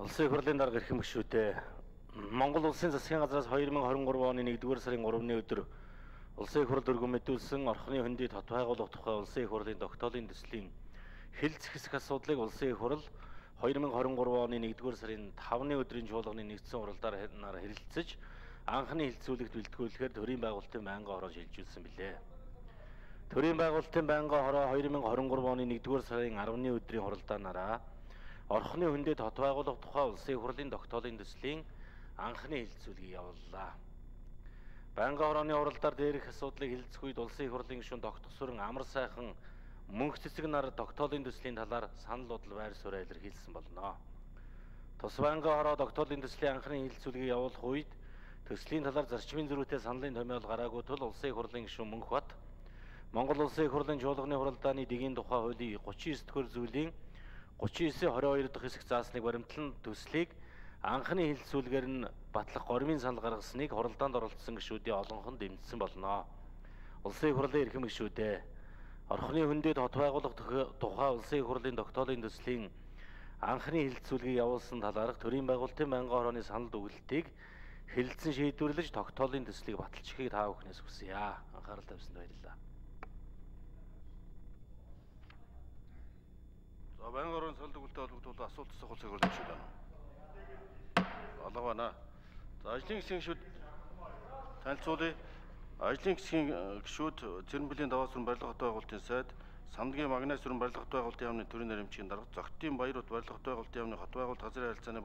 Улсын их хурлын дарга эрхэм гишүүдээ Монгол Улсын засгийн газраас 2023 оны 1-р сарын 3-ны өдөр Улсын их хурл өргөн мэдүүлсэн орхны хөндөд хот байгуулах тухай Улсын их хурлын тогтоолын төслийн хил зэхсэх асуудлыг Улсын их хурл 2023 оны 1-р сарын 5-ны өдрийн чуулганы нэгдсэн уралдаар хэрэлцэж анхны хилцүүлэгт бэлтгүүлэхээр төрийн байгуулалтын байнгын хороо шилжүүлсэн билээ. Төрийн байгуулалтын байнгын хороо 2023 оны 1-р сарын 10-ны өдрийн хуралдаанаараа орхны хөндөд хот байгуулах тухай Улсын их хурлын тогтоолын төслийн анхны хилцүүлгийг явууллаа. Байнгын хорооны уралдаар дээрх асуудлыг хилцэх үед Улсын их хурлын гишүүн Тогтгосүрэн амар сайхан мөнх цэцэг нар тогтоолын төслийн талаар санал бодол байр сууриа илэрхийлсэн болно. Тус байнгын хороо тогтоолын төслийн анхны хилцүүлгийг явуулах үед төслийн талаар зарчмын зөрүүтэй саналын томьёол гараагүй тул Улсын их хурлын гишүүн Мөнхбат Монгол Улсын их хурлын чуулганы хуралдааны дэгийн тухай хуулийн 39-р зүйлийн 39-22 дахь хэсэг заасныг баримтлан төслийг анхны хилцүүлгээр нь батлах гормын санал гаргасныг хуралдаанд оролцсон гишүүдийн олонхон дэмжсэн болно. Улсын их хурлын эрхэм гишүүдээ орхны хөндөд хот байгуулах тухай Улсын их хурлын тогтоолын төслийн анхны хилцүүлгийг явуулсан талаарх төрийн байгуулалтын байнгын хорооны санал дүгнэлтийг хэлэлцэн шийдвэрлэж тогтоолын төслийг баталчихыг та бүхнээс хүсье. Анхаарал тавьсанд баярлалаа. За байнгын хорооны санал дүгнэлтэд холбогдуулан асуулт асуух Улсын их хурлын гишүүд байна. Алга байна. За ажлын хэсгийн гишүүд танилцуулъя. Ажлын хэсгийн гишүүд Цэрэнбэлийн даваа сүрэн барилга хот байгуулалтын сайд, Самдгийн Магнай сүрэн барилга хот байгуулалтын яамны төрийн наримчийн дарга, Зогтын Баяр хот барилга хот байгуулалтын яамны хот байгуулалт газрын харилцааны